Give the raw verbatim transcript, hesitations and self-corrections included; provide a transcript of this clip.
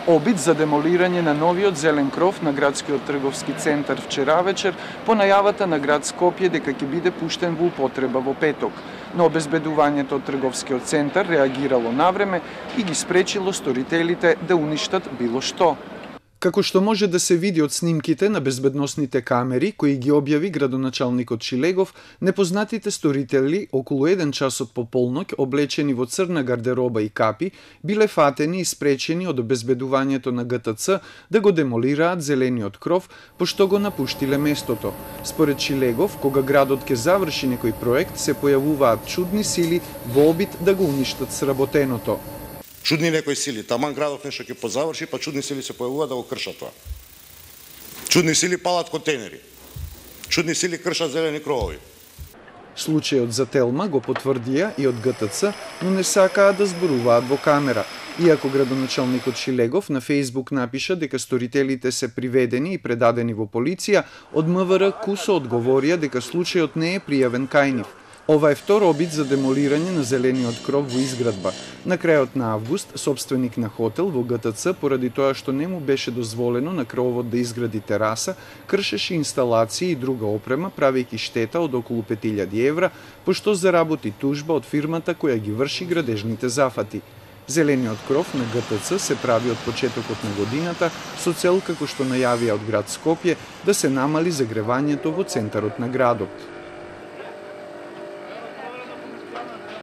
Обид за демолирање на новиот зелен кров на градскиот трговски центар вчера вечер по најавата на град Скопје дека ќе биде пуштен во употреба во петок. Но обезбедувањето од трговскиот центар реагирало навреме и ги спречило сторителите да уништат било што. Како што може да се види од снимките на безбедносните камери кои ги објави градоначалникот Шилегов, непознатите сторители околу еден час од пополноќ облечени во црна гардероба и капи биле фатени и спречени од обезбедувањето на Г Т Ц да го демолираат зелениот кров, пошто го напуштиле местото. Според Шилегов, кога градот ќе заврши некој проект, се појавуваат чудни сили во обид да го уништат сработеното. Чудни некои сили, таман градот нешто ќе позаврши, па чудни сили се појавуваат да го кршат тоа. Чудни сили палат контейнери. Чудни сили кршат зелени кровови. Случајот за Телма го потврдија и од Г Т Ц, но не сакаат да зборуваат во камера. Иако градоначалникот Шилегов на Фејсбук напиша дека сторителите се приведени и предадени во полиција, од М В Р кусо одговорија дека случајот не е пријавен кај нив. Ова е втор обид за демолирање на зелениот кров во изградба. На крајот на август, собственик на хотел во Г Т Ц, поради тоа што не му беше дозволено на кровот да изгради тераса, кршеше инсталации и друга опрема, правејќи штета од околу пет илјади евра, пошто заработи тужба од фирмата која ги врши градежните зафати. Зелениот кров на Г Т Ц се прави од почетокот на годината со цел, како што најавија од град Скопје, да се намали загревањето во центарот на градот.